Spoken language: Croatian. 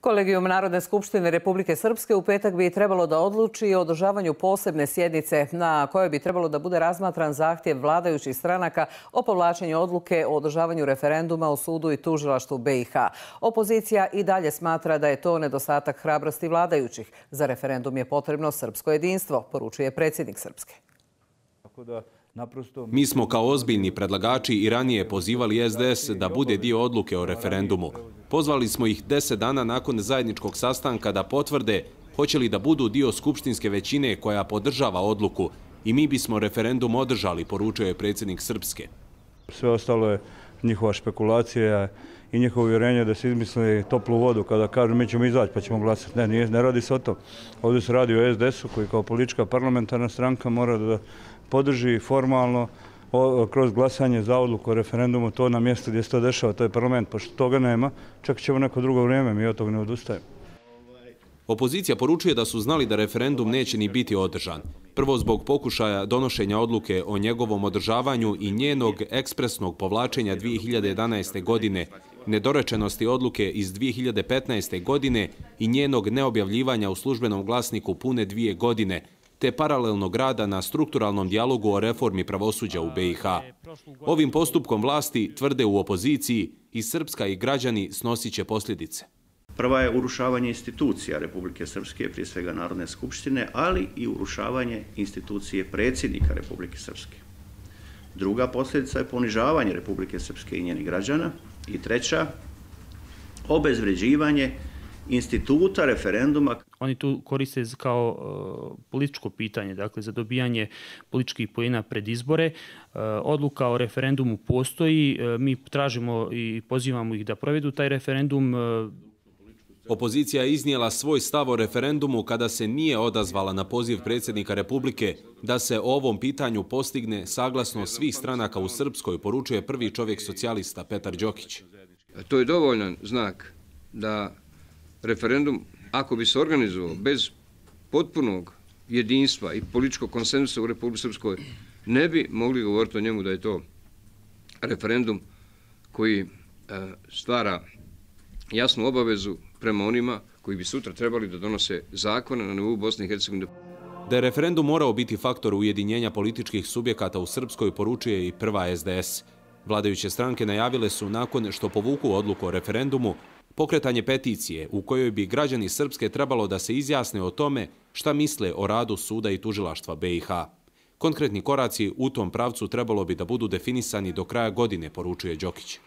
Kolegijum Narodne skupštine Republike Srpske u petak bi trebalo da odluči o održavanju posebne sjednice na kojoj bi trebalo da bude razmatran zahtjev vladajućih stranaka o povlačenju odluke o održavanju referenduma o sudu i tužilaštvu BiH. Opozicija i dalje smatra da je to nedostatak hrabrosti vladajućih. Za referendum je potrebno srpsko jedinstvo, poručuje predsjednik Srpske. Mi smo kao ozbiljni predlagači i ranije pozivali SDS da bude dio odluke o referendumu. Pozvali smo ih 10 dana nakon zajedničkog sastanka da potvrde hoće li da budu dio skupštinske većine koja podržava odluku i mi bismo referendum održali, poručuje predsjednik Srpske. Sve ostalo je njihova špekulacija i njihovo uvjerenje da se izmisli toplu vodu kada kažu mi ćemo izaći pa ćemo glasati. Ne radi se o to. Ovdje se radi o SDS-u koji kao politička parlamentarna stranka mora da podrži formalno kroz glasanje za odluku o referendumu to na mjestu gdje se to dešava, to je parlament. Pošto toga nema, čekat ćemo neko drugo vrijeme, mi od toga ne odustajemo. Opozicija poručuje da su znali da referendum neće ni biti održan. Prvo zbog pokušaja donošenja odluke o njegovom održavanju i njenog ekspresnog povlačenja 2011. godine, nedorečenosti odluke iz 2015. godine i njenog neobjavljivanja u službenom glasniku pune 2 godine, te paralelnog rada na strukturalnom dijalogu o reformi pravosuđa u BiH. Ovim postupkom vlasti, tvrde u opoziciji, i Srpska i građani snosit će posljedice. Prva je urušavanje institucija Republike Srpske, prije svega Narodne skupštine, ali i urušavanje institucije predsjednika Republike Srpske. Druga posljedica je ponižavanje Republike Srpske i njenih građana. I treća, obezvređivanje instituta referenduma. Oni tu koriste kao političko pitanje, dakle za dobijanje političkih poena pred izbore. Odluka o referendumu postoji, mi tražimo i pozivamo ih da provedu taj referendum. Opozicija je iznijela svoj stav o referendumu kada se nije odazvala na poziv predsjednika Republike da se o ovom pitanju postigne saglasnost svih stranaka u Srpskoj, poručuje prvi čovjek socijalista Petar Đokić. To je dovoljan znak da referendum, ako bi se organizovao bez potpunog jedinstva i političkog konsenzusa u Republici Srpskoj, ne bi mogli govoriti o njemu da je to referendum koji stvara jasnu obavezu prema onima koji bi sutra trebali da donose zakone na nivou Bosne i Hercegovine. Da je referendum morao biti faktor ujedinjenja političkih subjekata u Srpskoj, poručuje i prva SDS. Vladajuće stranke najavile su, nakon što povuku odluku o referendumu, pokretanje peticije u kojoj bi građani Srpske trebalo da se izjasne o tome šta misle o radu suda i tužilaštva BiH. Konkretni koraci u tom pravcu trebalo bi da budu definisani do kraja godine, poručuje Đokić.